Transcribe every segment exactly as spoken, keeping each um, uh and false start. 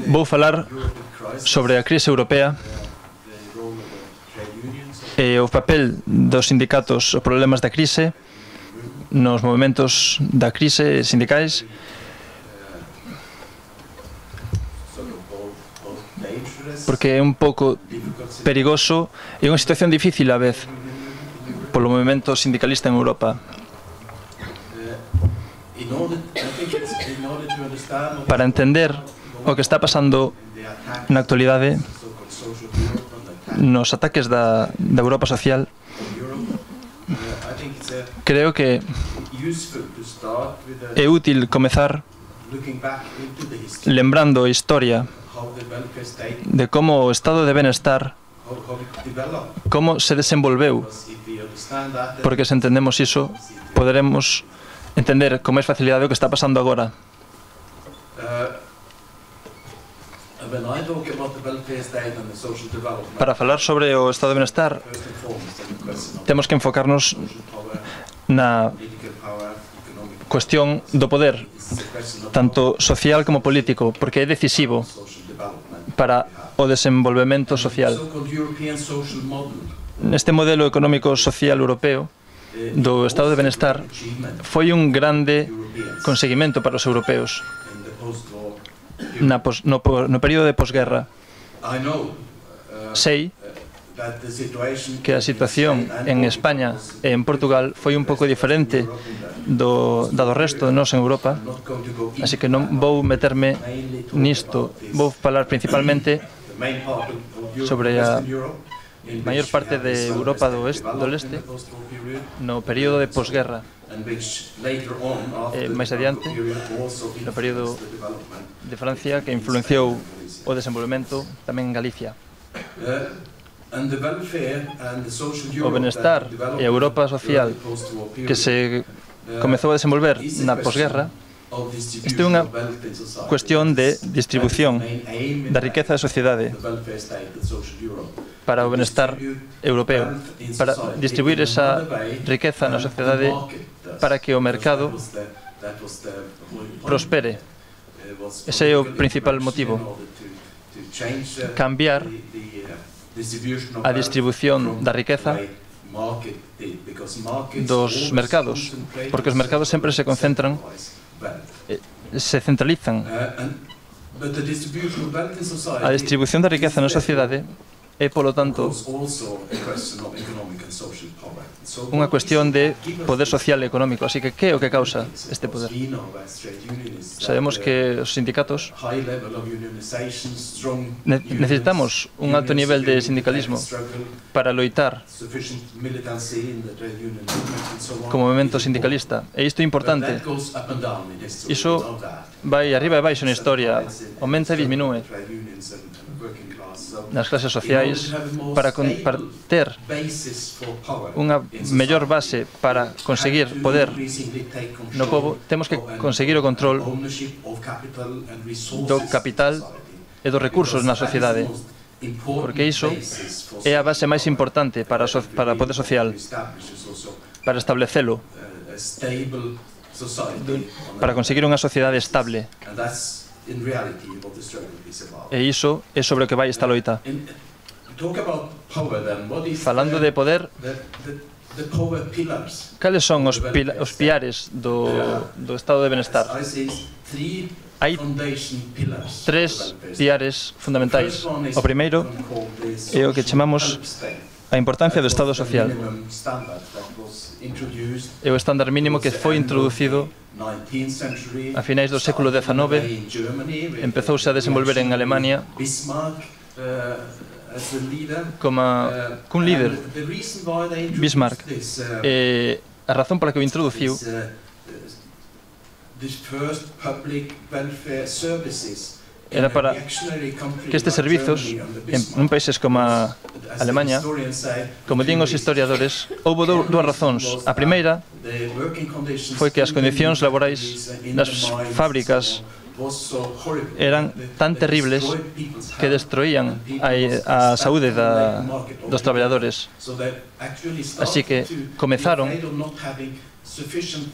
Vou falar sobre a crise europea e o papel dos sindicatos, os problemas da crise, nos movimentos da crise sindicais, porque é un pouco perigoso e unha situación difícil a vez polo movimento sindicalista en Europa. Para entender o que está pasando na actualidade nos ataques da, da Europa social, creo que é útil comezar lembrando a historia de como o estado de benestar, como se desenvolveu, porque se entendemos iso, poderemos entender con máis facilidade o que está pasando agora. Para falar sobre o estado de benestar, temos que enfocarnos na cuestión do poder, tanto social como político, porque é decisivo para o desenvolvemento social. Neste modelo económico social europeo do estado de benestar foi un grande conseguimento para os europeos na pos, no, no período de posguerra. Sei que a situación en España e en Portugal foi un pouco diferente do, da do resto de nós en Europa, así que non vou meterme nisto. Vou falar principalmente sobre a maior parte de Europa do, oeste, do leste no período de posguerra, e máis adiante no período de Francia, que influenciou o desenvolvemento tamén en Galicia. O benestar e a Europa social que se comezou a desenvolver na posguerra, isto é unha cuestión de distribución da riqueza da sociedade para o benestar europeo, para distribuir esa riqueza na sociedade para que o mercado prospere. Ese é o principal motivo. Cambiar a distribución da riqueza dos mercados, porque os mercados sempre se concentran, se centralizan. A distribución da riqueza na sociedade é, polo tanto, unha cuestión de poder social e económico. Así que, que é o que causa este poder? Sabemos que os sindicatos necesitamos un alto nivel de sindicalismo para loitar como movimento sindicalista. E isto é importante. Iso vai arriba e baixo na historia, aumenta e disminúe nas clases sociais. Para, con, para ter unha mellor base para conseguir poder no povo, temos que conseguir o control do capital e dos recursos na sociedade, porque iso é a base máis importante para, so, para o poder social, para establecelo, para conseguir unha sociedade estable. E iso é sobre o que vai esta loita. Falando de poder, cales son os, pila, os piares do, do estado de benestar? Hai tres piares fundamentais. O primeiro é o que chamamos a importancia do estado social. É o estándar mínimo que foi introducido a finais do século dezenove, empezouse a desenvolver en Alemania como cun líder, Bismarck. E a razón pola que o introduciu era para que estes servizos, en países como a Alemanha, como din os historiadores, houve dúas razóns. A primeira foi que as condicións laborais nas fábricas eran tan terribles que destruían a, a saúde da, dos traballadores. Así que comezaron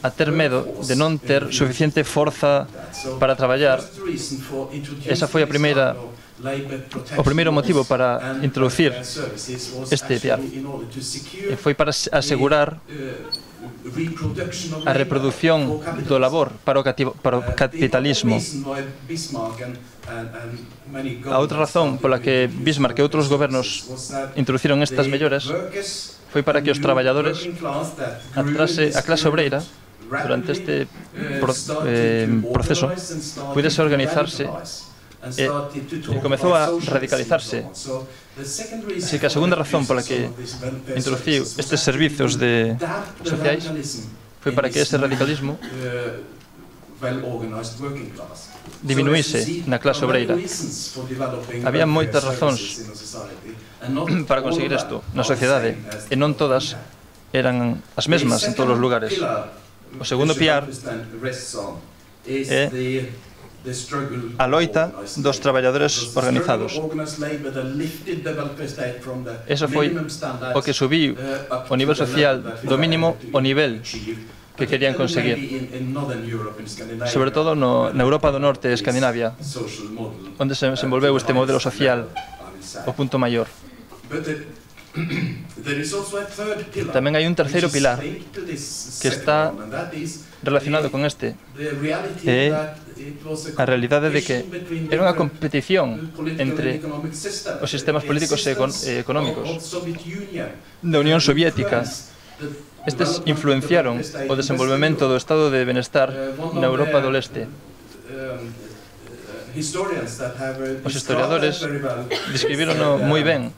a ter medo de non ter suficiente forza para traballar. Esa foi a primeira o primeiro motivo para introducir este P I A F. E foi para asegurar a reproducción do labor para o, para o capitalismo. A outra razón pola que Bismarck e outros gobernos introduciron estas melloras foi para que os traballadores, a clase, a clase obreira, durante este pro, eh, proceso, pudese organizarse e, e comezou a radicalizarse. Así que a segunda razón pola que introduciu estes servizos de sociais foi para que ese radicalismo diminuíse na clase obreira. Había moitas razóns para conseguir isto na sociedade, e non todas eran as mesmas en todos os lugares. O segundo piar é a loita dos traballadores organizados. Eso foi o que subiu o nivel social do mínimo ao nivel que querían conseguir, sobre todo no, na Europa do Norte e Escandinavia, onde se desenvolveu este modelo social o punto maior. Tamén hai un terceiro pilar que está relacionado con este, é a realidade de que era unha competición entre os sistemas políticos e económicos da Unión Soviética. Estes influenciaron o desenvolvemento do estado de benestar na Europa do Leste. Os historiadores describirono moi ben.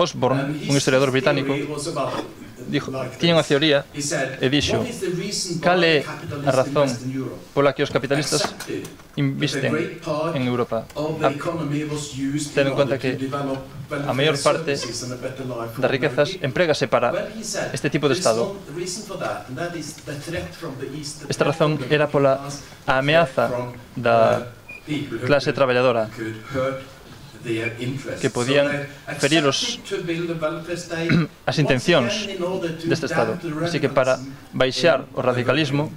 Hobsbawm, un historiador británico, dixo, tiña unha teoría e dixo: cal é a razón pola que os capitalistas invisten en Europa? Ten en conta que a maior parte das riquezas emprégase para este tipo de Estado. Esta razón era pola ameaza da clase traballadora, que podían ferir os, as intencións deste Estado. Así que para baixar o radicalismo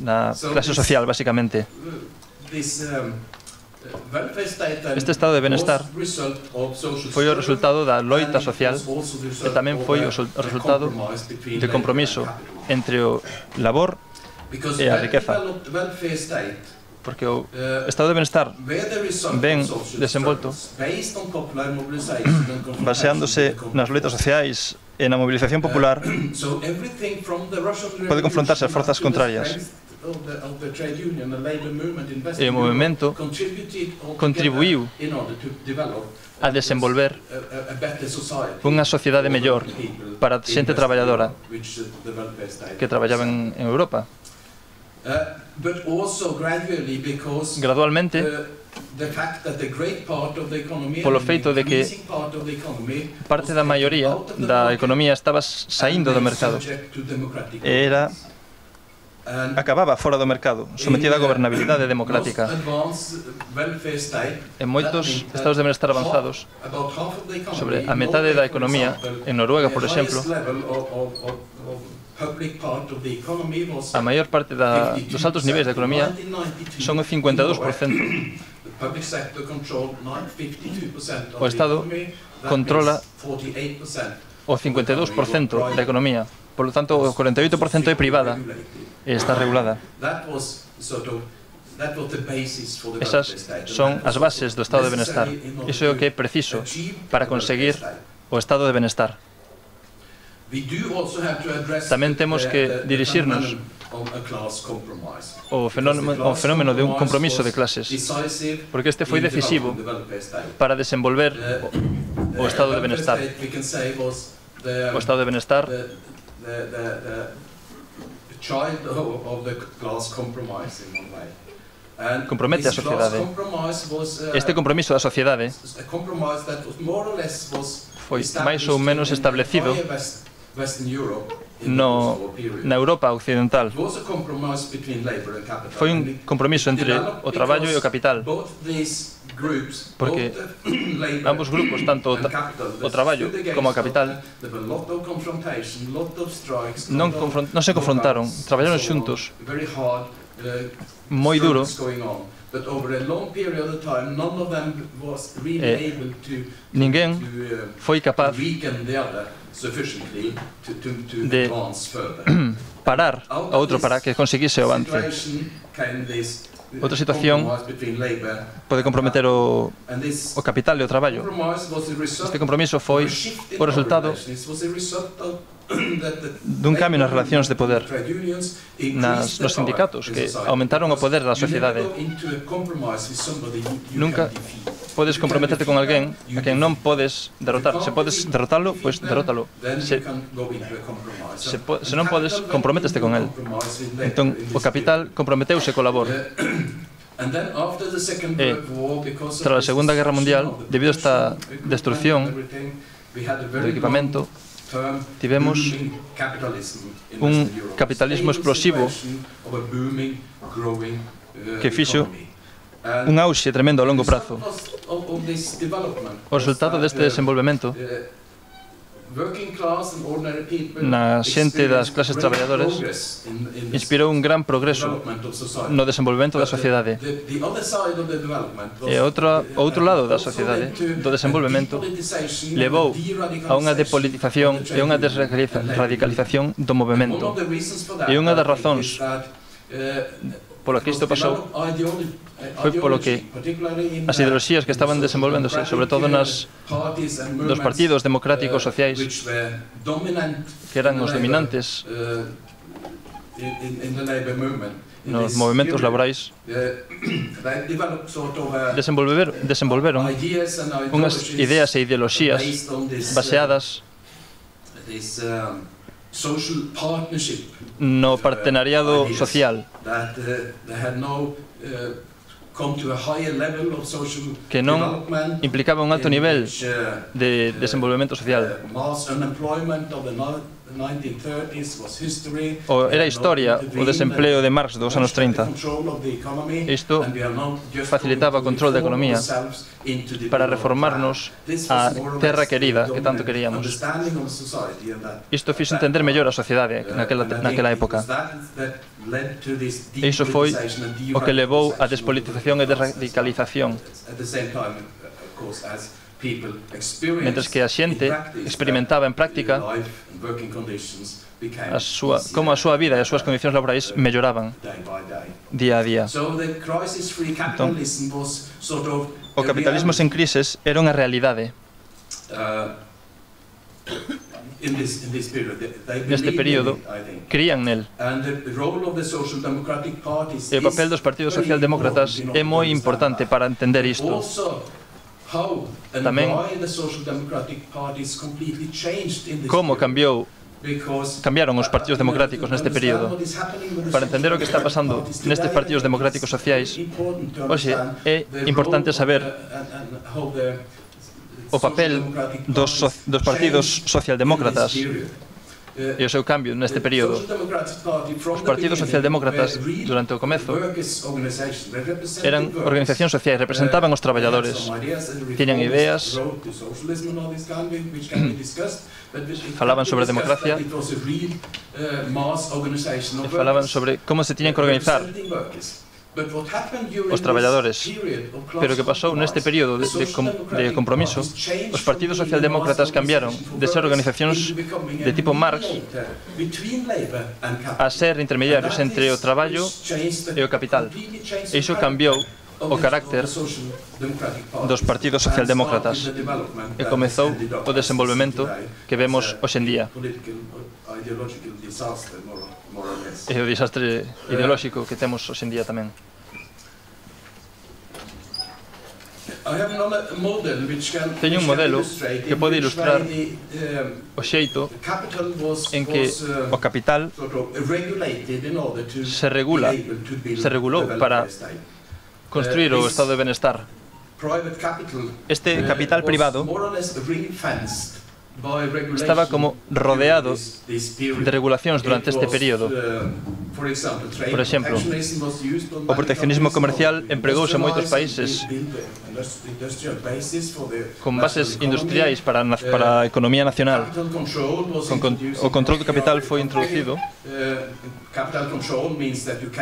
na clase social, basicamente, este estado de benestar foi o resultado da loita social e tamén foi o resultado de compromiso entre o labor e a riqueza. Porque o estado de benestar ben desenvolto, baseándose nas loitas sociais e na movilización popular, pode confrontarse ás forzas contrarias. E o movimento contribuiu a desenvolver unha sociedade mellor para a xente traballadora que traballaba en Europa. Gradualmente, polo feito de que parte da maioría da economía estaba saindo do mercado, era acababa fora do mercado, sometida a gobernabilidade democrática. En moitos estados de benestar avanzados, sobre a metade da economía, en Noruega, por exemplo, a maior parte da, dos altos niveis da economía son o cincuenta e dous por cento. O Estado controla o cincuenta e dous por cento da economía. Por lo tanto, o cuarenta e oito por cento é privada e está regulada. Esas son as bases do estado de benestar. Iso é o que é preciso para conseguir o estado de benestar. Tamén temos que dirixirnos ao fenómeno, ao fenómeno de un compromiso de clases, porque este foi decisivo para desenvolver o, o estado de benestar. O estado de benestar compromete a sociedade. Este compromiso da sociedade foi máis ou menos establecido no, na Europa occidental. Foi un compromiso entre o traballo e o capital, porque ambos grupos, tanto o traballo como o capital, non, non se confrontaron, traballaron xuntos, moi duro, e ninguén foi capaz de parar a outro para que conseguise o avance. Outra situación pode comprometer o, o capital e o traballo. Este compromiso foi o resultado dun cambio nas relacións de poder nas, nos sindicatos, que aumentaron o poder da sociedade. Nunca podes comprometerte con alguén a quen non podes derrotar. Se podes derrotalo, pois derrótalo. Se, se, po, se non podes, comprométeste con el. Entón, o capital comprometeuse co labor. E, tras a Segunda Guerra Mundial, debido a esta destrucción do equipamento, tivemos un capitalismo explosivo que fixo un auxe tremendo a longo prazo. O resultado deste desenvolvemento na xente das clases traballadoras inspirou un gran progreso no desenvolvemento da sociedade. E outro, o outro lado da sociedade, do desenvolvemento, levou a unha depolitización e unha desradicalización do movimento. E unha das razóns polo que isto pasou foi polo que as ideoloxías que estaban desenvolvéndose, sobre todo nas dos partidos democráticos sociais, que eran os dominantes nos movimentos laborais, desenvolver, desenvolveron unhas ideas e ideoloxías baseadas no partenariado social, que non implicaba un alto nivel de desenvolvemento social. O era historia o desempleo de Marx dos anos trinta. Isto facilitaba o control da economía para reformarnos a terra querida que tanto queríamos. Isto fixo entender mellor a sociedade naquela, naquela época. E iso foi o que levou a despolitización e desradicalización. Mentres que a xente experimentaba en práctica a súa, como a súa vida e as súas condicións laborais melloraban día a día. Entón, o capitalismo sen crises era unha realidade. Neste período, crían nel. E o papel dos partidos socialdemócratas é moi importante para entender isto. Tamén como cambiou cambiaron os partidos democráticos neste período. Para entender o que está pasando nestes partidos democráticos sociais, hoxe é importante saber o papel dos, so, dos partidos socialdemócratas e o seu cambio neste período. Os partidos socialdemócratas, durante o comezo, eran organizacións sociais, representaban os traballadores, tiñan ideas, falaban sobre democracia, e falaban sobre como se tiñan que organizar os traballadores. Pero o que pasou neste período de, de, de compromiso, os partidos socialdemócratas cambiaron de ser organizacións de tipo Marx a ser intermediarios entre o traballo e o capital. E iso cambiou o carácter dos partidos socialdemócratas e comezou o desenvolvemento que vemos hoxe en día. E o desastre ideolóxico que temos hoxe en día tamén. Teño un modelo que pode ilustrar o xeito en que o capital se regula, se regulou para construir o estado de benestar. Este capital privado estaba como rodeado de regulacións durante este período. Por exemplo, o proteccionismo comercial empregouse en moitos países con bases industriais para, para a economía nacional. Con, con, o control do capital foi introducido.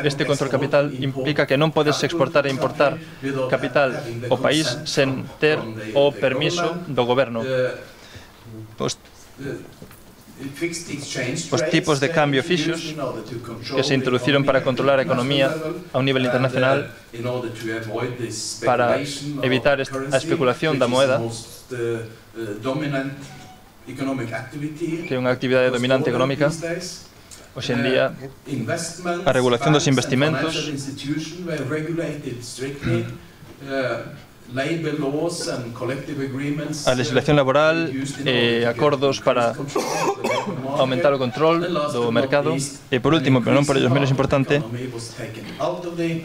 Este control capital implica que non podes exportar e importar capital ao país sen ter o permiso do goberno. Os, os tipos de cambio fixos que se introduciron para controlar a economía a un nivel internacional para evitar a especulación da moeda, que é unha actividade dominante económica. Hoxe en día, a regulación dos investimentos, a legislación laboral e acordos para aumentar o control do mercado e, por último, pero non por ello menos importante,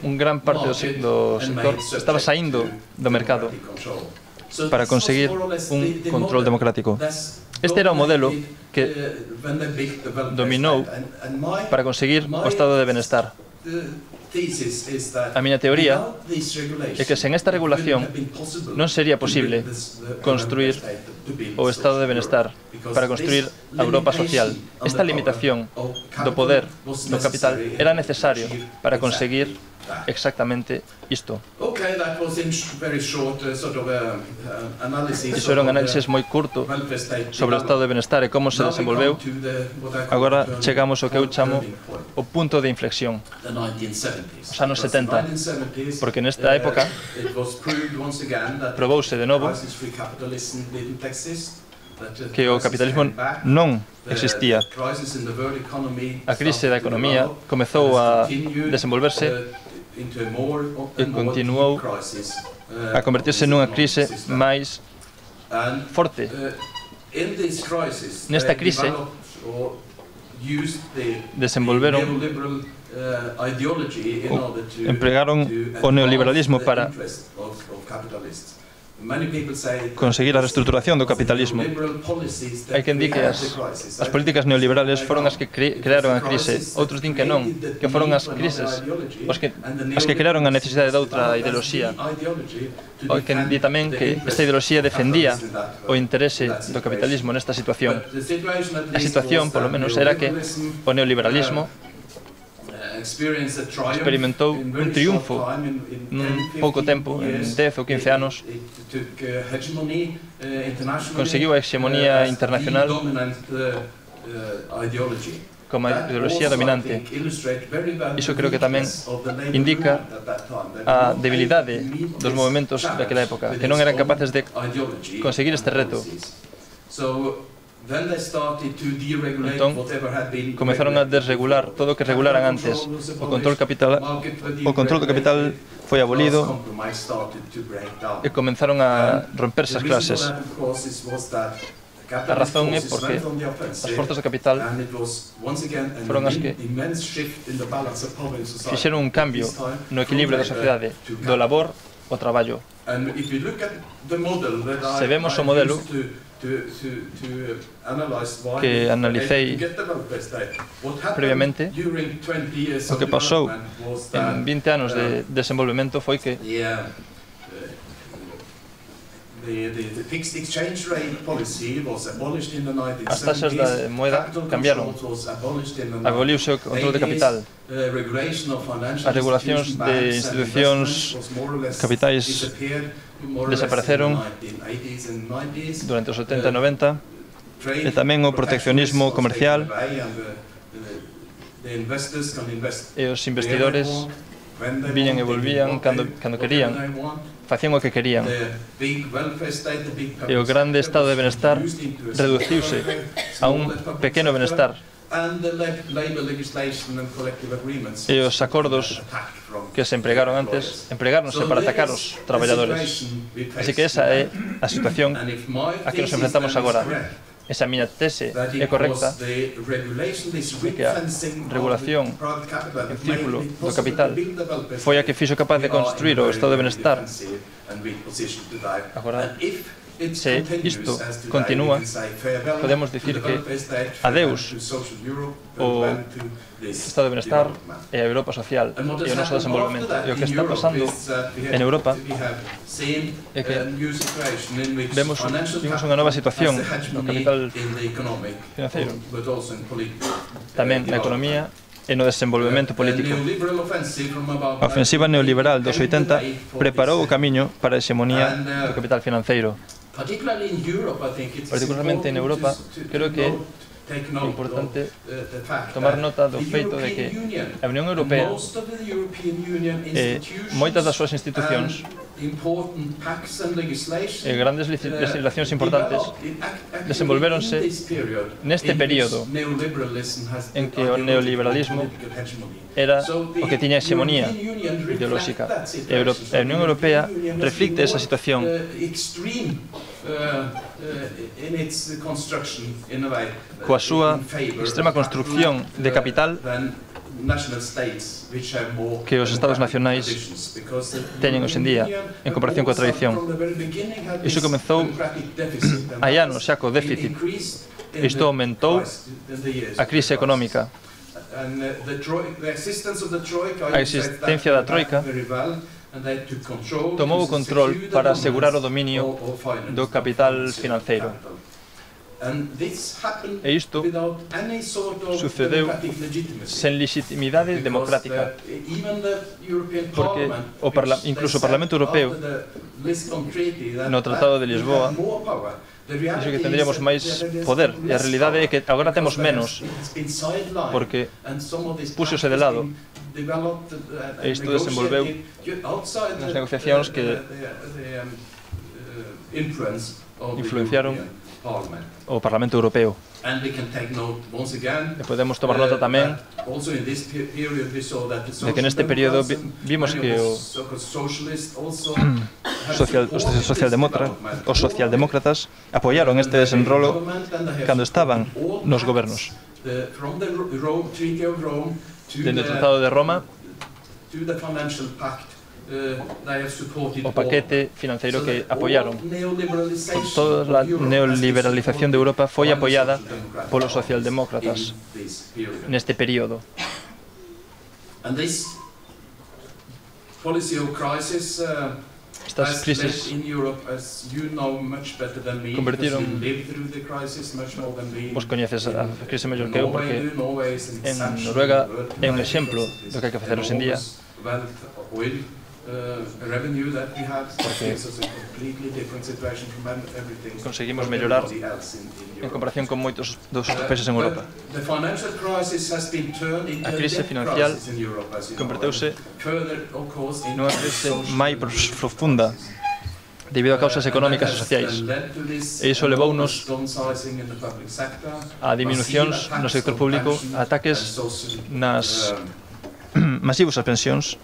un gran parte do sector estaba saindo do mercado para conseguir un control democrático. Este era o modelo que dominou para conseguir o estado de benestar. A miña teoría é que sen esta regulación non sería posible construir o estado de benestar para construir a Europa social. Esta limitación do poder do capital era necesario para conseguir exactamente isto. Iso era un análisis moi curto sobre o estado de benestar e como se desenvolveu. Agora chegamos ao que eu chamo o punto de inflexión, os anos setenta, porque nesta época probouse de novo que o capitalismo non existía. A crise da economía comezou a desenvolverse e continuou a convertirse nunha crise máis forte. Nesta crise desenvolveron empregaron o neoliberalismo para conseguir a reestruturación do capitalismo. Hai quen di que as, as políticas neoliberales foron as que cre, crearon a crise. Outros din que non, que foron as crises os que, as que crearon a necesidade de outra ideoloxía. Hai quen di tamén que esta ideoloxía defendía o interese do capitalismo nesta situación. A situación, polo menos, era que o neoliberalismo experimentou un triunfo nun pouco tempo, en dez ou quince anos, conseguiu a hexemonía internacional como a ideoloxía dominante. Iso creo que tamén indica a debilidade dos movimentos daquela época, que non eran capaces de conseguir este reto. Entón, comezaron a desregular todo o que regularan antes. O control capital, o control do capital foi abolido e comenzaron a romperse as clases. A razón é porque as forzas do capital foron as que fixeron un cambio no equilibrio da sociedade, do labor ao traballo. Se vemos o modelo que analicei previamente, o que pasou en vinte anos de desenvolvemento foi que as taxas da moeda cambiaron, aboliuse o control de capital, as regulacións de institucións capitais desapareceron durante os setenta e noventa, e tamén o proteccionismo comercial, e os investidores viñan e volvían cando, cando querían, facían o que querían, e o grande estado de benestar reduciuse a un pequeno benestar. E os acordos que se empregaron antes empregáronse para atacar os traballadores. Así que esa é a situación a que nos enfrentamos agora. Esa miña tese é correcta, que a regulación en círculo do capital foi a que fixo capaz de construir o estado de benestar. Agora, se isto continúa, podemos dicir que adeus o Estado de Benestar e a Europa social e o noso desenvolvemento. E o que está pasando en Europa é que vemos, vimos unha nova situación no capital financeiro, tamén na economía e no desenvolvemento político. A ofensiva neoliberal dos oitenta preparou o camiño para a hexemonía do capital financeiro. Particularmente en Europa, creo que é importante tomar nota do feito de que a Unión Europea e moitas das súas institucións e grandes legislacións importantes desenvolvéronse neste período en que o neoliberalismo era o que tiña hexemonía ideolóxica. E a Unión Europea reflicte esa situación coa súa extrema construcción de capital que os Estados nacionais teñen hoxe en día en comparación coa tradición. Iso comezou hai anos xa co déficit. Isto aumentou a crise económica. A existencia da Troika tomou o control para asegurar o dominio do capital financeiro. E isto sucedeu sen legitimidade democrática, porque o incluso o Parlamento Europeo, no Tratado de Lisboa, dixo que tendríamos máis poder, e a realidade é que agora temos menos, porque púxose de lado, e isto desenvolveu nas negociacións que influenciaron o Parlamento Europeo. E podemos tomar nota tamén de que neste período vimos que o social, os socialdemócratas, os socialdemócratas apoiaron este desenrolo cando estaban nos gobernos. Dende o Tratado de Roma o paquete financeiro que apoiaron. Toda a neoliberalización de Europa foi apoiada polos socialdemócratas neste período. Estas crises convertiron, vos coñeces a crise mellor que eu, porque en Noruega é un exemplo do que hai que facer hoxe en día, porque conseguimos mellorar en comparación con moitos dos países en Europa. A crise financiera converteuse nunha crise máis profunda debido a causas económicas e sociais. E iso levounos a diminucións no sector público, a ataques nas masivos ás pensións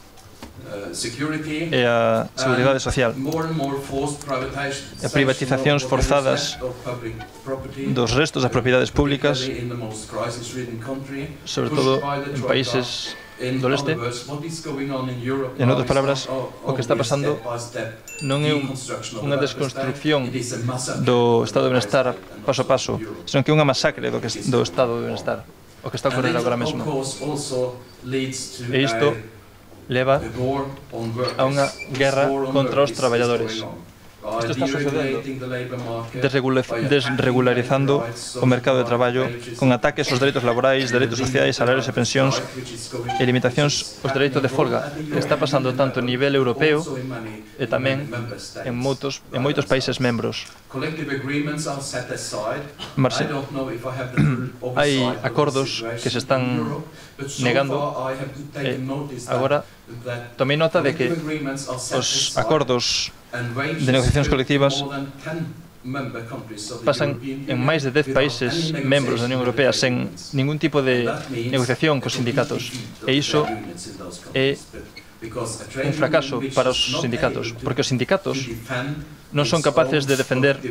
e a seguridade social, e a privatizacións forzadas dos restos das propiedades públicas, sobre todo en países do leste. En outras palabras, o que está pasando non é unha desconstrucción do Estado de Benestar paso a paso, senón que é unha masacre do Estado de Benestar, o que está a ocorrer agora mesmo. E isto leva a unha guerra contra os traballadores. Isto está sucedendo, desregularizando o mercado de traballo, con ataques aos dereitos laborais, dereitos sociais, salarios e pensións, e limitacións aos dereitos de folga. Está pasando tanto a nivel europeo e tamén en moitos, en moitos países membros. Marxe, hai acordos que se están negando, e agora tomei nota de que os acordos de negociacións colectivas pasan en máis de dez países membros da Unión Europea sen ningún tipo de negociación cos sindicatos. E iso é un fracaso para os sindicatos, porque os sindicatos non son capaces de defender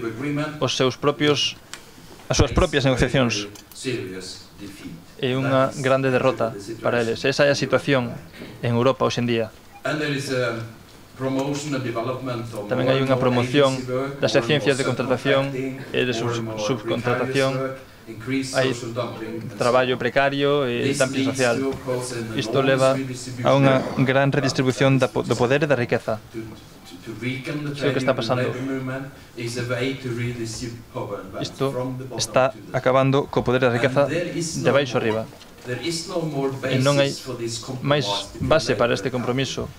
os seus propios, as súas propias negociacións. É unha grande derrota para eles. Esa é a situación en Europa hoxe en día. Tamén hai unha promoción das ciencias de contratación e de subcontratación. Hai traballo precario e dumping social. Isto leva a unha gran redistribución do poder e da riqueza. Isto que está pasando. Isto está acabando co poder e a riqueza de baixo arriba. E non hai máis base para este compromiso,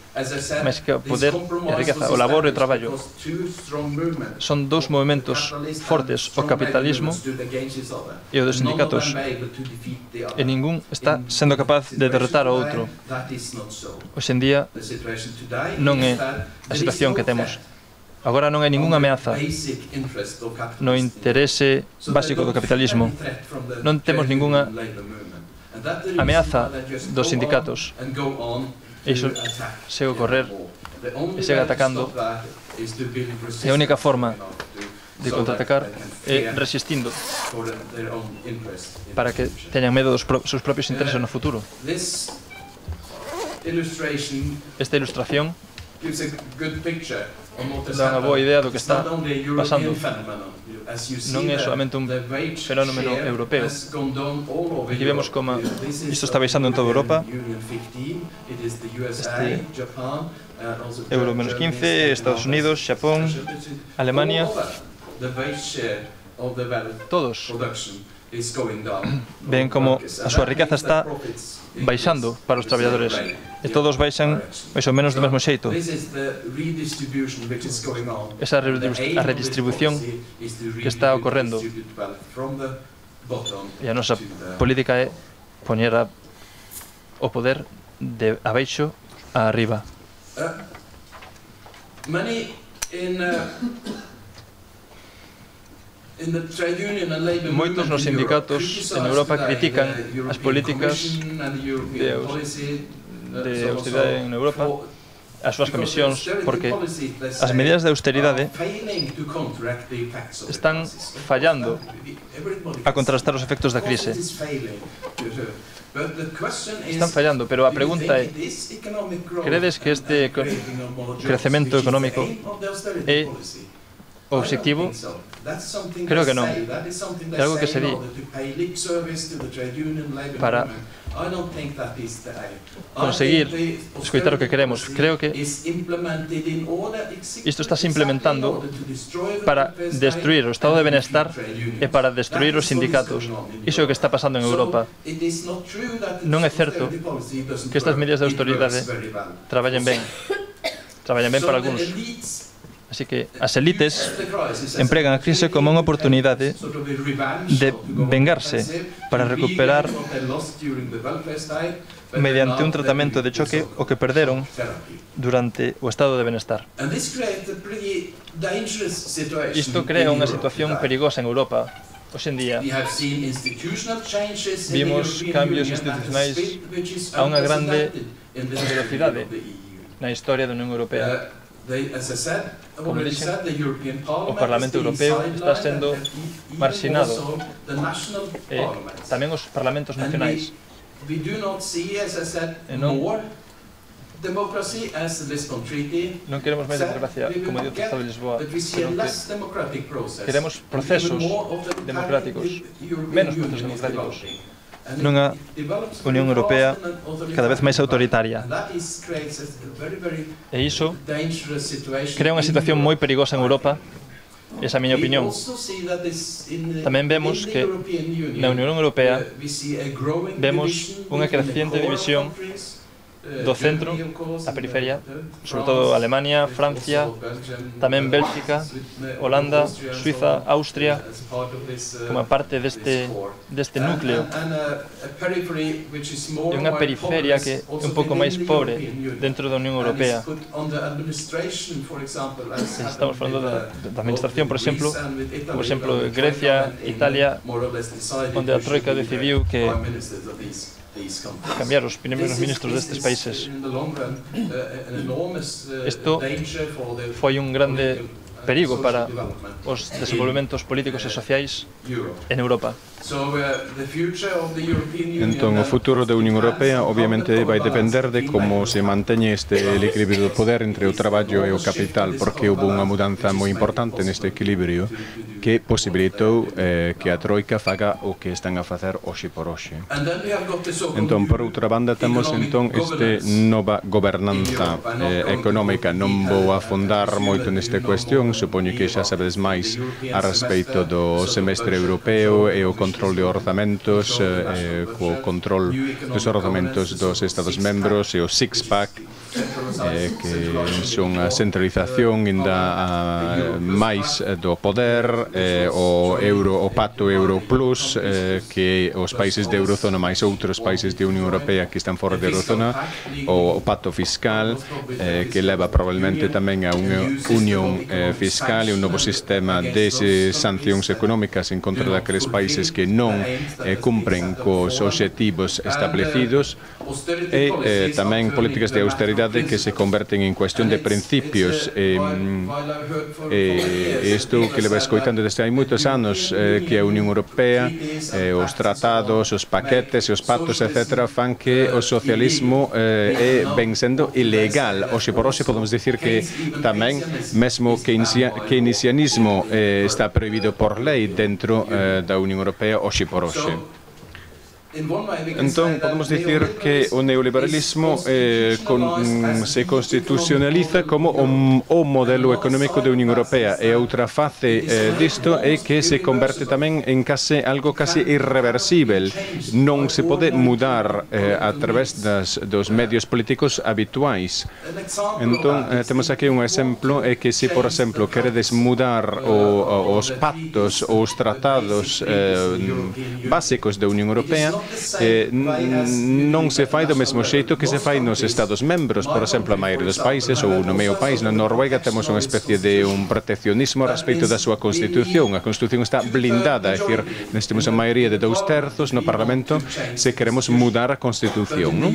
máis que o poder e a riqueza, o labor e o traballo. Son dous movimentos fortes, o capitalismo e o dos sindicatos, e ningún está sendo capaz de derrotar ao outro. Hoxe en día non é a situación que temos. Agora non hai ningunha ameaza no interese básico do capitalismo. Non temos ningunha ameaza dos sindicatos. Iso segue a correr e segue atacando. E a única forma de contraatacar é resistindo para que teñan medo dos seus propios intereses no futuro. Esta ilustración dá unha boa idea do que está pasando. Non é solamente un fenómeno europeo. Aquí vemos como isto está baixando en toda Europa. Este euro menos quince, Estados Unidos, Xapón, Alemania, todos ven como a súa riqueza está baixando para os traballadores e todos baixan máis ou menos do mesmo xeito. Esa a redistribución que está ocorrendo, e a nosa política é poñer o poder de abaixo a arriba. Moitos nos sindicatos en Europa critican as políticas de, de austeridade en Europa, as súas comisións, porque as medidas de austeridade están fallando a contrastar os efectos da crise. Están fallando, pero a pregunta é: credes que este crecemento económico é o obxectivo? Creo que non. É algo que se di para conseguir escoitar o que queremos. Creo que isto está se implementando para destruir o estado de benestar e para destruir os sindicatos. Iso é o que está pasando en Europa. Non é certo que estas medidas de autoridade traballen ben. Traballen ben para algúns. Así que as elites empregan a crise como unha oportunidade de vengarse para recuperar mediante un tratamento de choque o que perderon durante o estado de benestar. Isto crea unha situación perigosa en Europa. Hoxe en día vimos cambios institucionais a unha grande velocidade na historia da Unión Europea. Como dixen, o Parlamento Europeo está sendo marxinado e tamén os parlamentos nacionais. E non, non queremos máis democracia, como diu o Tratado de Lisboa, senón que queremos procesos democráticos, menos procesos democráticos, nunha Unión Europea cada vez máis autoritaria. E iso crea unha situación moi perigosa en Europa, esa é a miña opinión. Tamén vemos que na Unión Europea vemos unha creciente división do centro, a periferia, sobre todo Alemania, Francia, tamén Bélxica, Holanda, Suiza, Austria, como parte deste, deste núcleo. E unha periferia que é un pouco máis pobre dentro da Unión Europea. Estamos falando da, da administración, por exemplo, por exemplo, Grecia, Italia, onde a Troika decidiu que cambiar os primeiros ministros destes países. Isto foi un grande perigo para os desenvolvementos políticos e sociais en Europa. Entón, o futuro da Unión Europea obviamente vai depender de como se manteñe este equilibrio do poder entre o traballo e o capital, porque houve unha mudanza moi importante neste equilibrio que posibilitou eh, que a Troika faga o que están a facer hoxe por hoxe. Entón, por outra banda, temos entón este nova gobernanza eh, económica. Non vou afondar moito nesta cuestión, supoño que xa sabedes máis a respeito do semestre europeo e o control de orzamentos, eh, co control dos orzamentos dos Estados membros e o six-pack, eh, que son a centralización ainda a, máis do poder, eh, o euro, o pacto Euro Plus, eh, que os países de Eurozona máis outros países de Unión Europea que están fora de Eurozona, o, o pacto fiscal, eh, que leva probablemente tamén a unha unión eh, fiscal e un novo sistema de sancións económicas en contra daqueles países que non eh, cumpren cos obxectivos establecidos, e eh, tamén políticas de austeridade que se converten en cuestión de principios. E eh, isto que leva escoitando desde hai moitos anos, eh, que a Unión Europea, eh, os tratados, os paquetes e os pactos, etcétera, fan que o socialismo eh, é ben sendo ilegal. Hoxe por hoxe podemos dicir que tamén mesmo keynesianismo eh, está prohibido por lei dentro eh, da Unión Europea hoxe por hoxe. Entón, podemos dicir que o neoliberalismo eh, con, mm, se constitucionaliza como o, o modelo económico da Unión Europea, e outra face eh, disto é que se converte tamén en case, algo casi irreversible. Non se pode mudar eh, a través das, dos medios políticos habituais. Entón, eh, temos aquí un exemplo, é que se, por exemplo, queredes mudar o, os pactos ou os tratados eh, básicos da Unión Europea, Eh, non se fai do mesmo xeito que se fai nos Estados membros. Por exemplo, a maioria dos países, ou no meu país, na Noruega, temos unha especie de un proteccionismo a respecto da súa Constitución. A Constitución está blindada, é dicir, temos a maioría de dous terzos no Parlamento se queremos mudar a Constitución, non?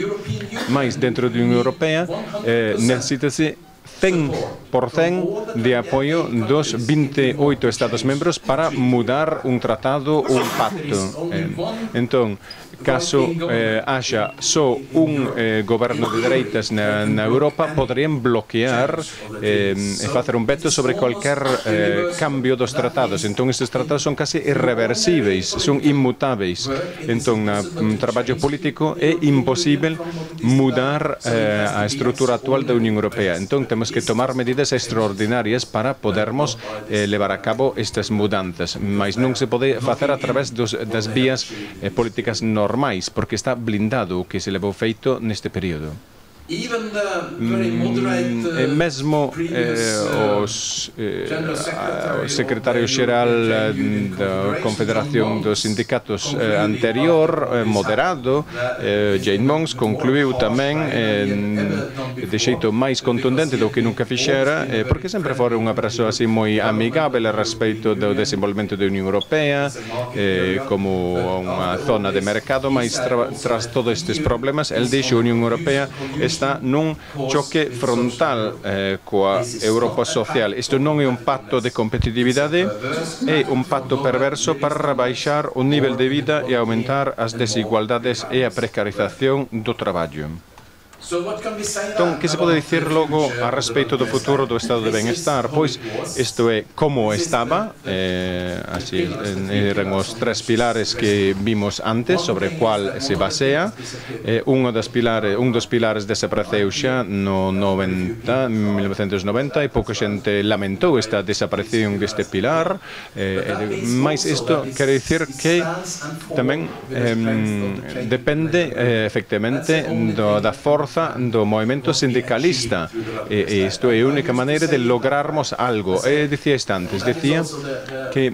Mais dentro da Unión Europea eh, necesítase cen por cen de apoio dos vinte e oito Estados membros para mudar un tratado ou un pacto. Eh, entón, caso eh, haxa só un eh, goberno de dereitas na, na Europa, poderían bloquear eh, e facer un veto sobre cualquier eh, cambio dos tratados. Entón, estes tratados son casi irreversibles, son inmutáveis. Entón, na um, traballo político é imposible mudar eh, a estrutura actual da Unión Europea. Entón, temos que tomar medidas extraordinarias para podermos eh, levar a cabo estas mudanzas, mas non se pode facer a través dos, das vías eh, políticas normais, porque está blindado o que se levou feito neste período. Mm, e mesmo eh, os, eh, o secretario xeral da Confederación dos Sindicatos eh, anterior, eh, moderado, eh, Jane Mons, concluiu tamén eh, de xeito máis contundente do que nunca fixera, eh, porque sempre fora unha persoa así moi amigável a respecto do desenvolvemento da Unión Europea eh, como unha zona de mercado, mas tra, tras todos estes problemas, el dixo a Unión Europea está nun choque frontal eh, coa Europa social. Isto non é un pacto de competitividade, é un pacto perverso para rebaixar o nivel de vida e aumentar as desigualdades e a precarización do traballo. Entón, que se pode dicir logo a respeito do futuro do estado de benestar? Pois, isto é como estaba, eh, así, eran os tres pilares que vimos antes, sobre cual se basea. Eh, un, dos pilares, un dos pilares desapareceu xa no noventa, mil novecentos noventa, e pouca xente lamentou esta desaparición deste pilar. Eh, mais isto quere dicir que tamén eh, depende, eh, efectivamente, do, da forza do movimento sindicalista, e isto é a única maneira de lograrmos algo. E dicía isto antes, dicía que,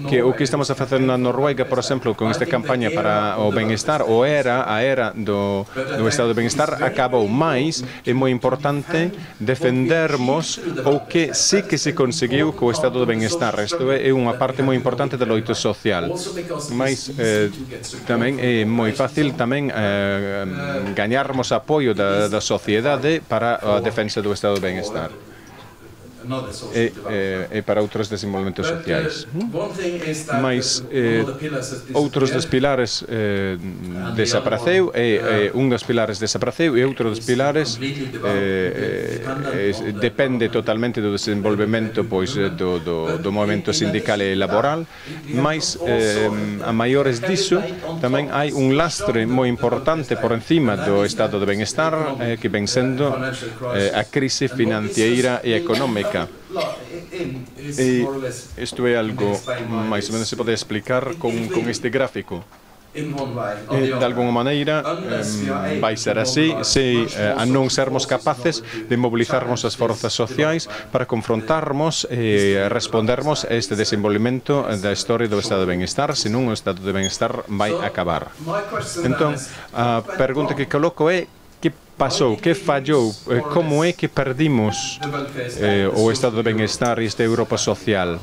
que o que estamos a facer na Noruega, por exemplo, con esta campaña para o benestar, o era, a era do, do estado de benestar, acabou, máis é moi importante defendermos o que sí que se conseguiu co estado de benestar. Isto é unha parte moi importante do loito social, mas eh, tamén é moi fácil tamén eh, gañar apoio da, da sociedade para a defensa do estado de benestar. e, eh, e para outros desenvolvimentos sociais. Mas eh, outros dos pilares eh, desapareceu, e, e un dos pilares desapareceu e outro dos pilares eh, eh, depende totalmente do desenvolvemento pois, do, do, do movimento sindical e laboral, mas eh, a maiores disso tamén hai un lastre moi importante por encima do estado de benestar eh, que ven sendo eh, a crise financiera e económica. E isto é algo máis ou menos se pode explicar con, con este gráfico. E, de alguma maneira, eh, vai ser así se eh, a non sermos capaces de mobilizarmos as forzas sociais para confrontarmos e eh, respondermos a este desenvolvimento da historia do estado de benestar, senón o estado de benestar vai acabar. Entón, a pergunta que coloco é que pasou, que fallou, eh, como é que perdimos eh, o estado de benestar e esta Europa social?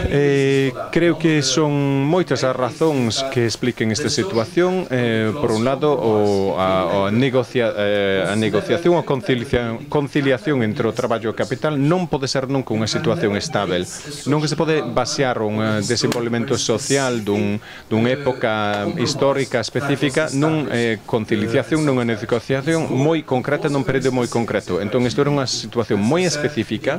Eh, creo que son moitas as razóns que expliquen esta situación. Eh, por un lado, o, a, a, negocia, eh, a negociación, a conciliación, conciliación entre o traballo e o capital non pode ser nunca unha situación estável. Non que se pode basear un desenvolvemento social dun, dunha época histórica específica nun eh, conciliación, nunha negociación moi concreta nun período moi concreto. Entón, isto era unha situación moi específica.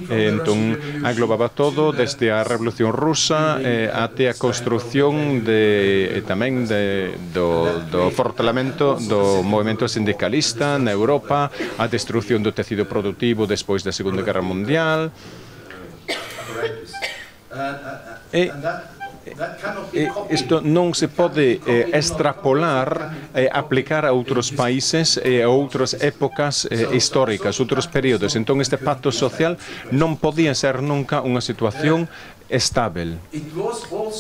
Eh, entón, aglobaba todo desde a Revolución Rusa eh, até a construción de, eh, tamén de, do, do fortalemento do movimento sindicalista na Europa, a destrucción do tecido productivo despois da Segunda Guerra Mundial. E E isto non se pode eh, extrapolar, eh, aplicar a outros países e eh, a outras épocas eh, históricas, outros períodos. Entón, este pacto social non podía ser nunca unha situación estável.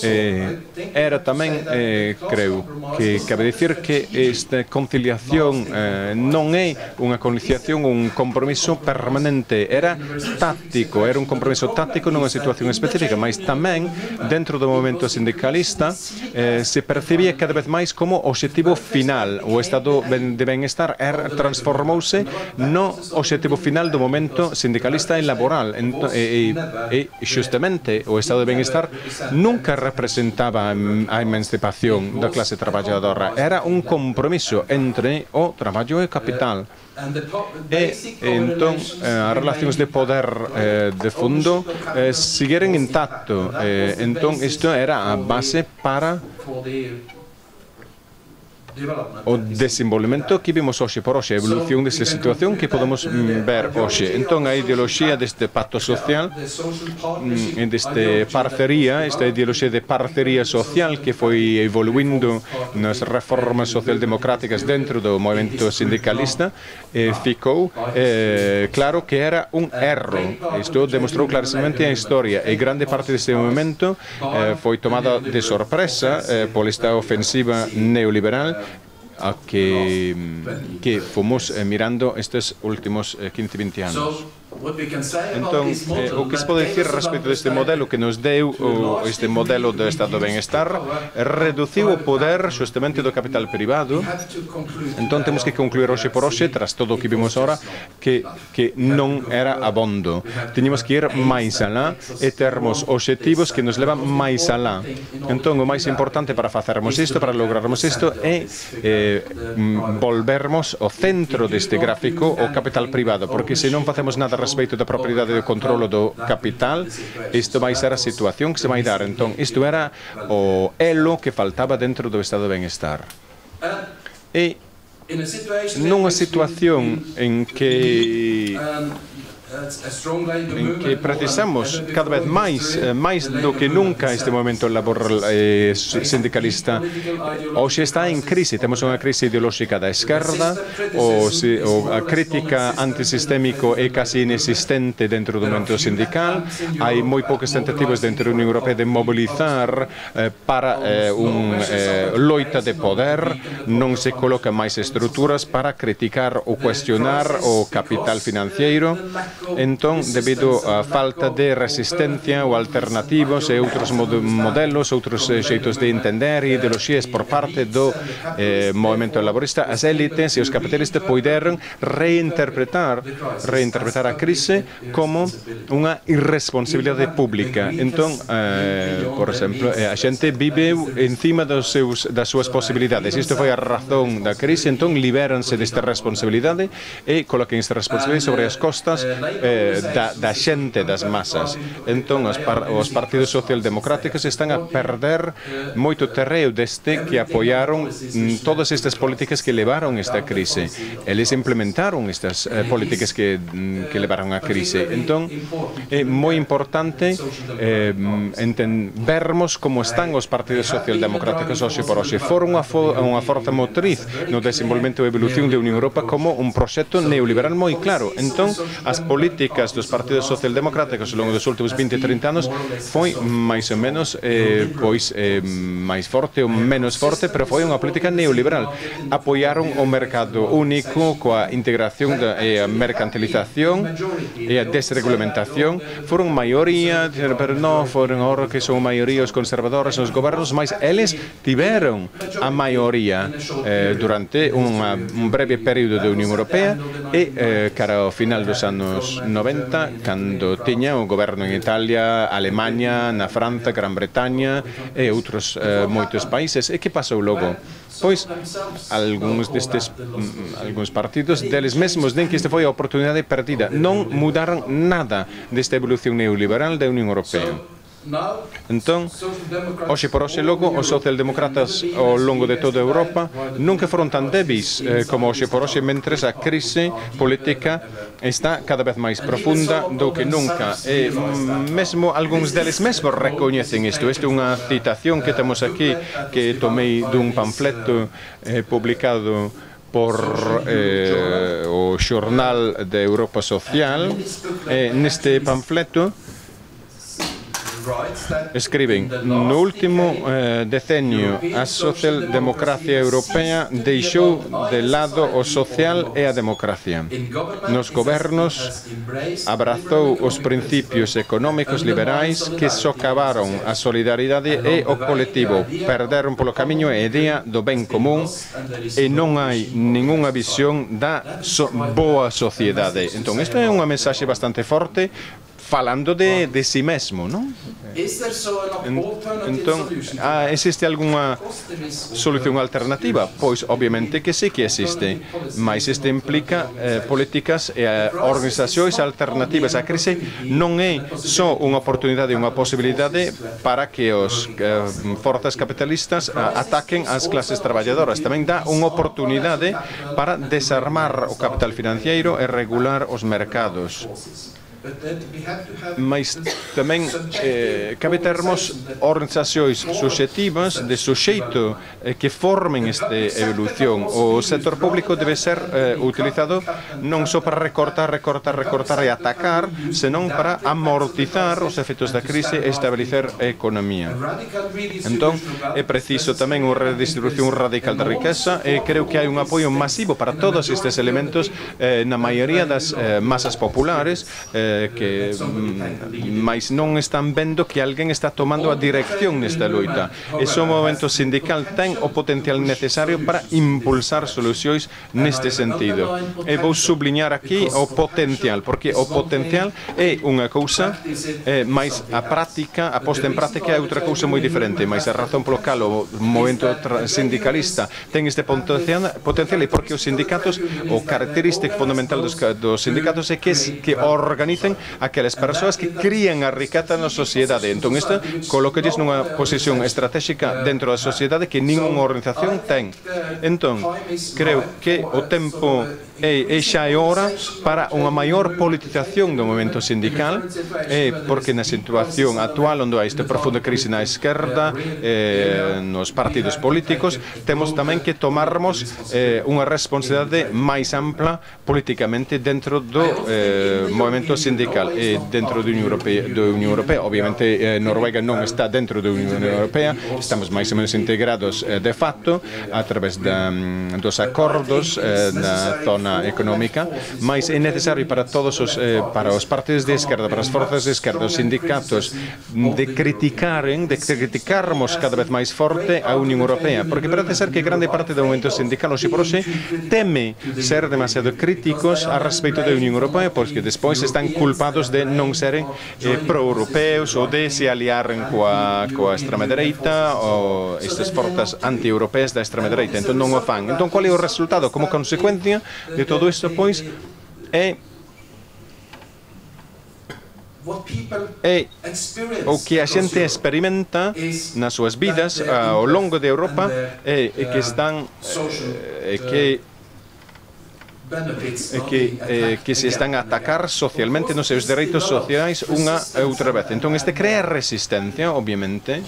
Eh, era tamén, eh, creo, que cabe dicir que esta conciliación eh, non é unha conciliación, un compromiso permanente, era táctico, era un compromiso táctico nunha situación específica, mas tamén dentro do movimento sindicalista eh, se percibía cada vez máis como objetivo final. O estado de benestar transformouse no objetivo final do movimento sindicalista e laboral. E, e, e xustamente o estado de benestar nunca representaba a emancipación da clase traballadora. Era un compromiso entre o traballo e o capital. E, entón, as relacións de poder eh, de fondo eh, seguiren intacto. Eh, entón, isto era a base para o desenvolvemento que vimos hoxe por hoxe, a evolución desta situación que podemos mm, ver hoxe. Entón, a ideoloxía deste pacto social, mm, deste parcería, esta ideoloxía de parcería social que foi evoluindo nas reformas socialdemocráticas dentro do movimento sindicalista, eh, ficou eh, claro que era un erro. Isto demostrou clarísimamente a historia, e grande parte deste movimento eh, foi tomada de sorpresa eh, pola esta ofensiva neoliberal a que, que fomos eh, mirando estes últimos eh, quince, vinte anos. Entón, eh, o que se pode dicir respecto deste modelo que nos deu o, este modelo do estado de benestar reduciu o poder xustamente do capital privado. Entón temos que concluir hoxe por hoxe, tras todo o que vimos ahora, que, que non era abondo. Teníamos que ir máis alá e termos obxectivos que nos levan máis alá. Entón, o máis importante para facermos isto, para lograrmos isto, é eh, volvermos ao centro deste gráfico o capital privado, porque se non facemos nada respecto da propiedade do controlo do capital, isto vai ser a situación que se vai dar. Entón, isto era o elo que faltaba dentro do estado de benestar. E nunha situación en que en que precisamos cada vez máis máis do que nunca este movimento laboral eh, sindicalista hoxe está en crise. Temos unha crise ideolóxica da esquerda, o, o a crítica antisistémico é casi inexistente dentro do movimento sindical. Hai moi poucas tentativas dentro da Unión Europea de mobilizar eh, para eh, un eh, loita de poder. Non se colocan máis estruturas para criticar ou cuestionar o capital financiero. entón, debido á falta de resistencia ou alternativos e outros mod modelos, outros eh, xeitos de entender e ideoloxías por parte do eh, movimento laborista, as élites e os capitalistas poideron reinterpretar reinterpretar a crise como unha irresponsabilidade pública. Entón, eh, por exemplo, a xente vive encima dos seus, das súas posibilidades. Isto foi a razón da crise, entón libéranse desta responsabilidade e coloquen esta responsabilidade sobre as costas eh, da, da xente, das masas. Entón, os, par, os partidos socialdemocráticos están a perder moito terreo deste que apoiaron mm, todas estas políticas que levaron esta crise. Eles implementaron estas eh, políticas que, mm, que levaron a crise. Entón, é moi importante eh, vermos como están os partidos socialdemocráticos hoxe por hoxe. Foron unha, fo unha forte motriz no desenvolvemento e evolución da Unión Europa como un proxecto neoliberal moi claro. Entón, as políticas dos partidos socialdemocráticos ao longo dos últimos vinte a trinta anos foi máis ou menos eh, pois eh, máis forte ou menos forte, pero foi unha política neoliberal. Apoiaron o mercado único coa integración da e a mercantilización e a desregulamentación. Foron maioría, pero non foron ahora que son maioría os conservadores nos gobernos, mas eles tiveron a maioría eh, durante unha, un breve período da Unión Europea e eh, cara ao final dos anos noventa, cando tiña o goberno en Italia, Alemanha, na França, Gran Bretaña e outros eh, moitos países. E que pasou logo? Pois, algúns destes mm, algúns partidos deles mesmos den que esta foi a oportunidade perdida. Non mudaron nada desta evolución neoliberal da Unión Europea. Entón, hoxe por hoxe logo, os socialdemócratas ao longo de toda Europa nunca foron tan débeis eh, como hoxe por hoxe, mentres a crise política está cada vez máis profunda do que nunca. E mesmo algúns deles mesmos recoñecen isto. Isto é unha citación que temos aquí, que tomei dun panfleto eh, publicado por eh, o Xornal de Europa Social. Eh, neste panfleto escriben: no último eh, decenio a socialdemocracia europea deixou de lado o social e a democracia. Nos gobernos abrazou os principios económicos liberais que socavaron a solidaridade e o colectivo, perderon polo camiño a idea do ben común e non hai ningunha visión da so boa sociedade. Entón, esta é unha mensaxe bastante forte, falando de, de si mesmo, non? Entón, ah, existe algunha solución alternativa? Pois, obviamente que sí que existe, mas este implica eh, políticas e eh, organizacións alternativas. A crise non é só unha oportunidade, unha posibilidade para que os eh, forzas capitalistas ah, ataquen as clases traballadoras. Tamén dá unha oportunidade para desarmar o capital financiero e regular os mercados. Mas tamén eh, cabe termos organizacións subxectivas de suxeito eh, que formen esta evolución. O sector público debe ser eh, utilizado non só para recortar, recortar, recortar e atacar, senón para amortizar os efectos da crise e establecer a economía. Entón, é preciso tamén unha redistribución radical da riqueza e creo que hai un apoio masivo para todos estes elementos eh, na maioría das eh, masas populares eh, que máis non están vendo que alguén está tomando a dirección nesta loita. Ese movimento sindical ten o potencial necesario para impulsar solucións neste sentido. E vou subliñar aquí o potencial, porque o potencial é unha cousa, eh, máis a práctica, a posta en práctica é outra cousa moi diferente, máis a razón polo cal o movimento sindicalista ten este potencial, potencial é porque os sindicatos, o característico fundamental dos, dos sindicatos é que, que organizan aquelas persoas que crían a riqueza na sociedade. Entón, isto colócalles nunha posición estratégica dentro da sociedade que ninguna organización ten. Entón, creo que o tempo é, é xa é hora para unha maior politización do movimento sindical, é porque na situación actual onde hai esta profunda crise na esquerda, eh, nos partidos políticos, temos tamén que tomarmos eh, unha responsabilidade máis ampla políticamente dentro do eh, movimento sindical e dentro da Unión Europea. Da Unión Europea. Obviamente, eh, Noruega non está dentro da Unión Europea, estamos máis ou menos integrados eh, de facto a través da, dos acordos eh, na zona na económica, mas é necesario para todos os, eh, para os partidos de esquerda, para as forzas de esquerda, os sindicatos, de criticaren, de criticarmos cada vez máis forte a Unión Europea, porque parece ser que grande parte do movimento sindical hoxe por hoxe teme ser demasiado críticos a respecto da Unión Europea, porque despois están culpados de non seren eh, pro-europeos ou de se aliaren coa, coa extrema dereita ou estas forzas anti-europeas da extrema dereita. Entón non o fan. Entón, qual é o resultado? Como consecuencia de todo isto, pois, é é o que a xente experimenta nas súas vidas ao longo de Europa é, é que están é que é que, eh, que se están a atacar socialmente nos seus dereitos sociais unha e outra vez. Entón, este crea resistencia, obviamente.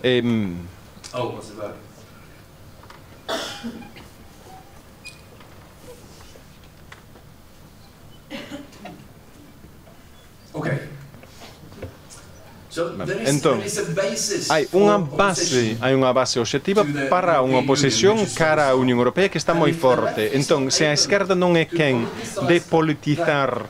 Eh, Entón, hai unha base, hai unha base obxectiva para unha oposición cara á Unión Europea que está moi forte. Entón, se a esquerda non é quen de politizar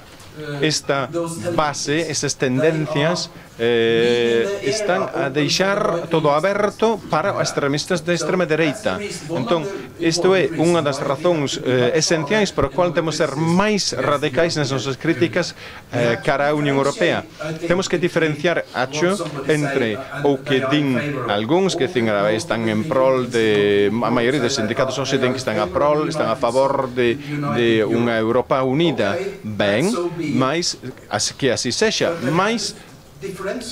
esta base, estas tendencias, eh, están a deixar todo aberto para extremistas de extrema dereita. Entón, isto é unha das razóns eh, esenciais para o qual temos que ser máis radicais nas nosas críticas eh, cara á Unión Europea. Temos que diferenciar, acho, entre o que din algúns que din, están en prol de... A maioría dos sindicatos hoxe din que están a prol, están a favor de, de unha Europa unida. Ben, mas que así sexa, mas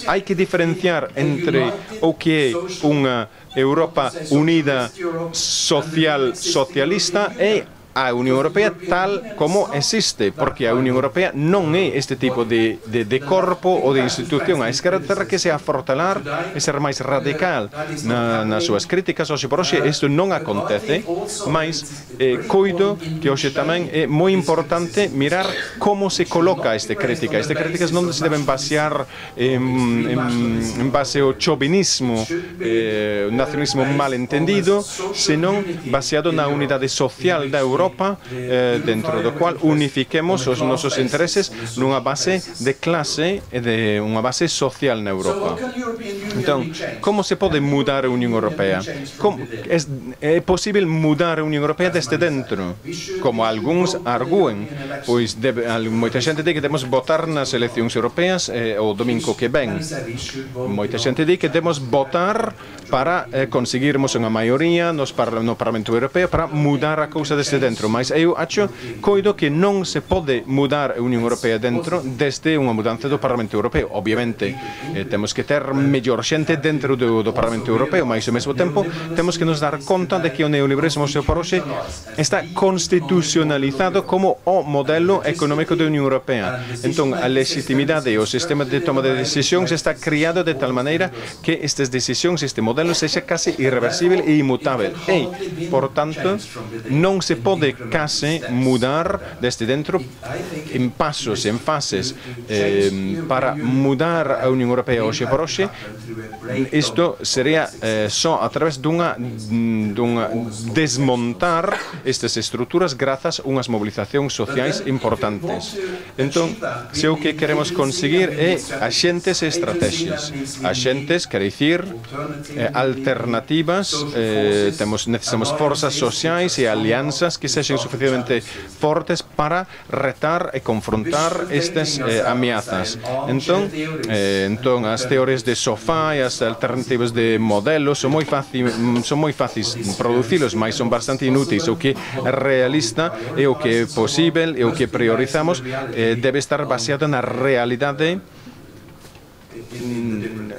hai que diferenciar entre o que é unha Europa unida social socialista e a Unión Europea tal como existe, porque a Unión Europea non é este tipo de, de, de corpo ou de institución. A esquerda terá que se afortalar e ser máis radical na, nas súas críticas. Hoxe por hoxe isto non acontece, mas eh, coido que hoxe tamén é moi importante mirar como se coloca esta crítica. Estas críticas non se deben basear en, en, en base ao chauvinismo, eh, nacionalismo malentendido, senón baseado na unidade social da Europa, eh, dentro do cual unifiquemos os nosos intereses nunha base de clase e de unha base social na Europa. Entón, como se pode mudar a Unión Europea? Como, é, é posible mudar a Unión Europea desde dentro? Como algúns arguen, pois debe, moita xente di que temos votar nas eleccións europeas eh, o domingo que ven. Moita xente di que temos votar para eh, conseguirmos unha maioría nos par no Parlamento Europeo para mudar a cousa desde dentro. Mas eu acho, coido que non se pode mudar a Unión Europea dentro desde unha mudanza do Parlamento Europeo. Obviamente, eh, temos que ter mellor xente dentro do, do Parlamento Europeo, mas ao mesmo tempo temos que nos dar conta de que o neoliberalismo hoxe por hoxe está constitucionalizado como o modelo económico da Unión Europea. Entón, a legitimidade e o sistema de toma de decisións está criado de tal maneira que estas decisións, este modelo, sexa case irreversible e inmutável. E, por tanto, non se pode case mudar desde dentro en pasos, en fases eh, para mudar a Unión Europea hoxe por hoxe. Isto sería eh, só a través dunha, dunha desmontar estas estruturas grazas a unhas mobilizacións sociais importantes. Entón, se o que queremos conseguir é axentes e estrategias. Axentes, quer dicir, eh, alternativas, eh, temos, necesitamos forzas sociais e alianzas que sexen suficientemente fortes para retar e confrontar estas eh, ameazas. Entón, eh, entón, as teorías de sofá e as alternativas de modelos son moi fácil, son moi fáciles producilos, mas son bastante inúteis. O que é realista e o que é posible e o que priorizamos eh, debe estar baseado na realidade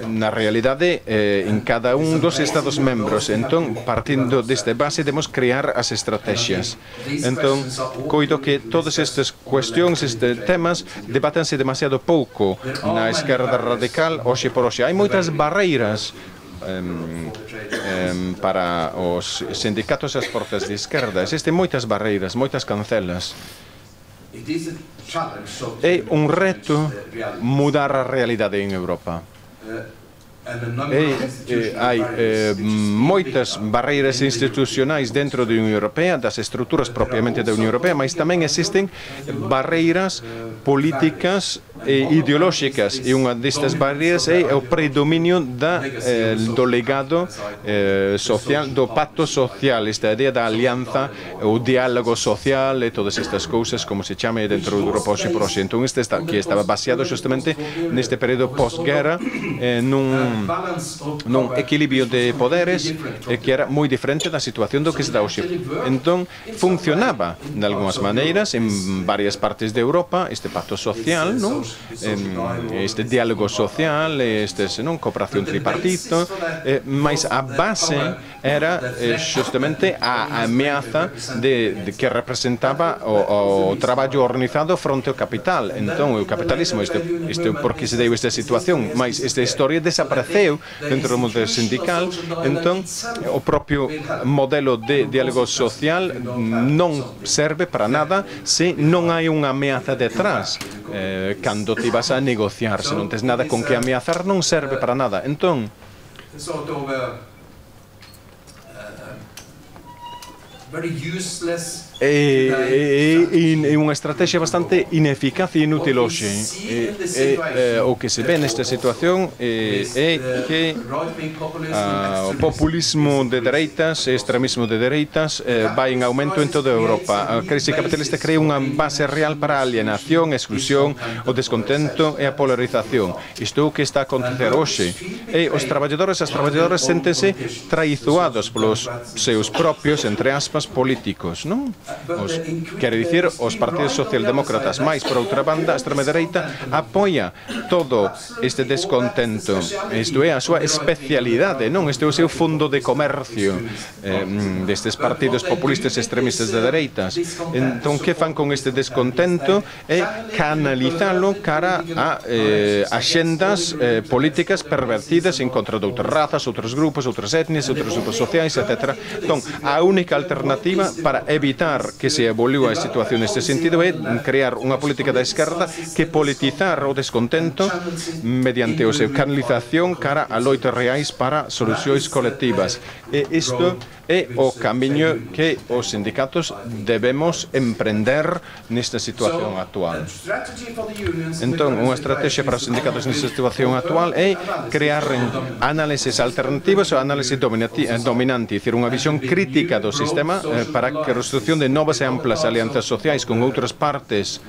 na realidade eh, en cada un dos Estados membros. Entón, partindo desta base, debemos crear as estrategias. Entón, coido que todas estas cuestións, estes temas, debátanse demasiado pouco na esquerda radical hoxe por hoxe. Hai moitas barreiras Um, um, para os sindicatos e as forzas de esquerda. Existen moitas barreiras, moitas cancelas. É un reto mudar a realidade en Europa. E eh, hai eh, moitas barreiras institucionais dentro da Unión Europea, das estruturas propiamente da Unión Europea, mas tamén existen barreiras políticas e ideolóxicas, e unha destas barreiras é o predominio da, eh, do legado eh, social, do pacto social, esta idea da alianza, o diálogo social e todas estas cousas, como se chame dentro do Europa hoxe por hoxe. Entón, este está, que estaba baseado justamente neste período pós-guerra, eh, nun nun equilibrio de poderes eh, que era moi diferente da situación do que se dá hoxe. Entón, funcionaba de algunhas maneiras en varias partes de Europa este pacto social, non? Este diálogo social, este, non? Cooperación tripartito, eh, mas a base era eh, justamente a ameaza de, de que representaba o, o traballo organizado fronte ao capital. Entón, o capitalismo, este, este, por que se deu esta situación, mas esta historia desapareceu dentro do modelo sindical. Entón, o propio modelo de diálogo social non serve para nada se non hai unha ameaza detrás. Eh, cando te vas a negociar, se non tes nada con que ameazar, non serve para nada. Entón, É, é, é unha estrategia bastante ineficaz e inútil hoxe. É, é, é, o que se ve nesta situación é, é que a, o populismo de dereitas e extremismo de dereitas eh, vai en aumento en toda Europa. A crise capitalista crea unha base real para a alienación, a exclusión, o descontento e a polarización. Isto é o que está a acontecer hoxe. E os traballadores e as traballadoras séntense traizoados polos seus propios, entre aspas, políticos, non? Os, quere dicir, os partidos socialdemócratas, máis, por outra banda, a extrema-dereita apoia todo este descontento. Isto é a súa especialidade, non? Este é o seu fondo de comercio eh, destes partidos populistas extremistas de dereitas. Entón, que fan con este descontento? É canalizalo cara a eh, axendas eh, políticas pervertidas en contra de outras razas, outros grupos, outras etnias, outros grupos sociais, etcétera. Entón, a única alternativa para evitar que se evoluiu a situación neste sentido é crear unha política da esquerda que politizar o descontento mediante a seu canalización cara a loitas reais para solucións colectivas. E isto é o camiño que os sindicatos debemos emprender nesta situación actual. Entón, unha estrategia para os sindicatos nesta situación actual é crear análises alternativas ou análise dominante, dicir, unha visión crítica do sistema eh, para que a construción de novas e amplas alianzas sociais con outras partes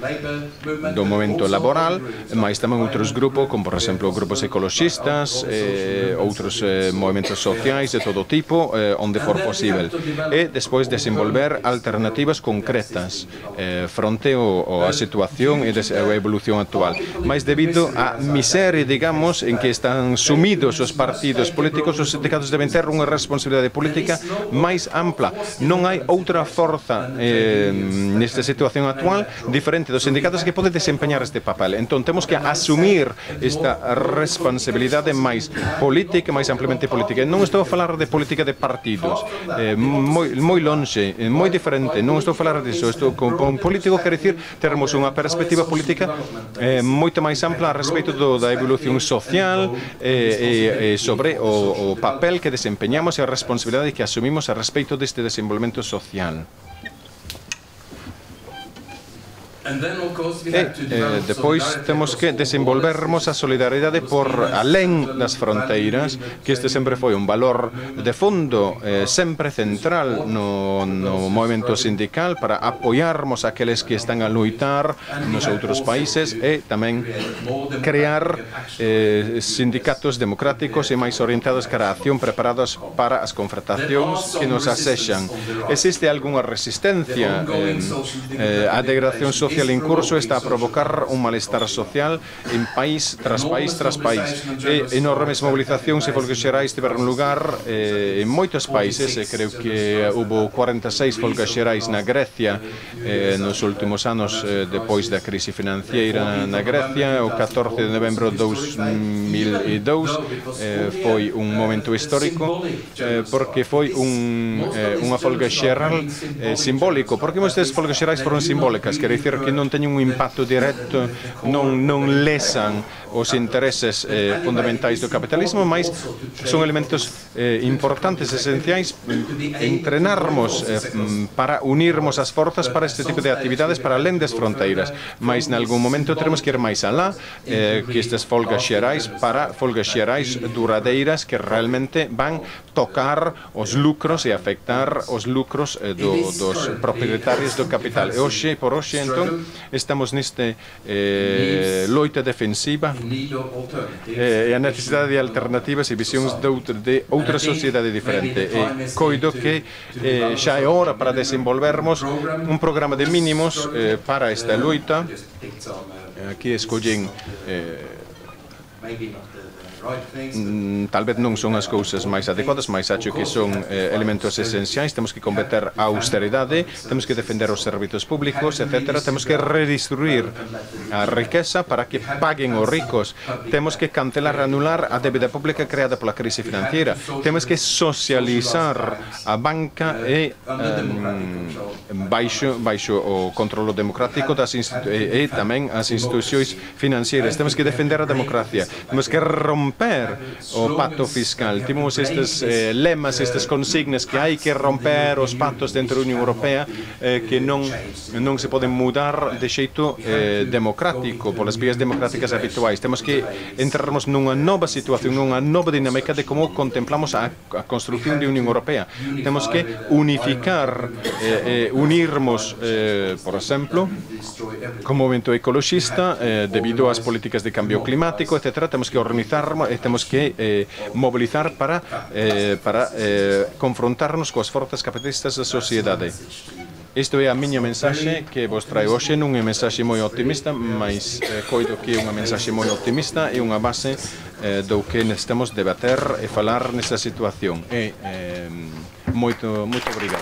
do momento laboral, mas tamén outros grupos, como por exemplo grupos ecologistas, eh, outros eh, movimentos sociais de todo tipo, eh, onde for posible. E despois desenvolver alternativas concretas eh, fronte ao, a situación e a evolución actual. Mas debido á miseria, digamos, en que están sumidos os partidos políticos, os sindicatos deben ter unha responsabilidade política máis ampla. Non hai outra forza eh, nesta situación actual diferente dos sindicatos que pode desempeñar este papel. Entón, temos que asumir esta responsabilidade máis política, máis ampliamente política. Non estou a falar de política de partidos, eh, moi, moi longe, moi diferente. Non estou a falar disso. Estou con, con político, quer dicir, termos unha perspectiva política eh, moito máis ampla a respeito do, da evolución social eh, e, e sobre o, o papel que desempeñamos e a responsabilidade que asumimos a respeito deste desenvolvemento social. E eh, depois temos que desenvolvermos a solidaridade por alén das fronteiras, que este sempre foi un valor de fondo eh, sempre central no, no movimento sindical para apoiarmos aqueles que están a luitar nos outros países e tamén crear eh, sindicatos democráticos e máis orientados cara a acción preparados para as confrontacións que nos asexan. Existe algunha resistencia eh, eh, a degradación social en curso está a provocar un malestar social en país tras país tras país. E enormes mobilizacións e folgas xerais tiveron lugar eh, en moitos países, e creo que hubo cuarenta e seis folgas xerais na Grecia eh, nos últimos anos eh, depois da crise financiera na Grecia. O catorce de novembro de dous mil e dous eh, foi un momento histórico eh, porque foi un, eh, unha folga xeral eh, simbólico. Porque moitas folgas xerais foron simbólicas, quer dicir, que non teñen un impacto directo, non, non lesan os intereses eh, fundamentais do capitalismo, mas son elementos eh, importantes, esenciais, entrenarmos eh, para unirmos as forzas para este tipo de actividades para alén das fronteiras, mas nalgún momento teremos que ir máis alá, eh, que estas folgas xerais para folgas xerais duradeiras que realmente van tocar os lucros e afectar os lucros eh, do, dos propietarios do capital. E hoxe, por hoxe, entón, estamos neste eh, loita defensiva e a necesidade de alternativas e visións de outra, de outra sociedade diferente. E coido que eh, xa é hora para desenvolvermos un programa de mínimos eh, para esta loita. Aquí escollen eh, Mm, tal vez non son as cousas máis adecuadas, mas acho que son eh, elementos esenciais. Temos que combater a austeridade, temos que defender os servizos públicos, etcétera. Temos que redistribuir a riqueza para que paguen os ricos. Temos que cancelar e anular a débeda pública creada pola crise financiera. Temos que socializar a banca e um, baixo, baixo o controlo democrático das e, e tamén as institucións financieras. Temos que defender a democracia. Temos que romper o pacto fiscal. Temos estes eh, lemas, estas consignas que hai que romper os pactos dentro da Unión Europea eh, que non, non se poden mudar de xeito eh, democrático, polas vías democráticas habituais. Temos que entrarmos nunha nova situación, nunha nova dinámica de como contemplamos a, a construcción de Unión Europea. Temos que unificar, eh, eh, unirmos, eh, por exemplo, como movimento ecologista, eh, debido ás políticas de cambio climático, etcétera. Temos que organizar e temos que eh, mobilizar para, eh, para eh, confrontarnos coas forzas capitalistas da sociedade. Isto é a miña mensaxe que vos traio hoxe, non é mensaxe moi optimista, mas eh, coido que é unha mensaxe moi optimista e unha base eh, do que necesitamos debater e falar nesta situación. E, eh, moito, moito obrigado.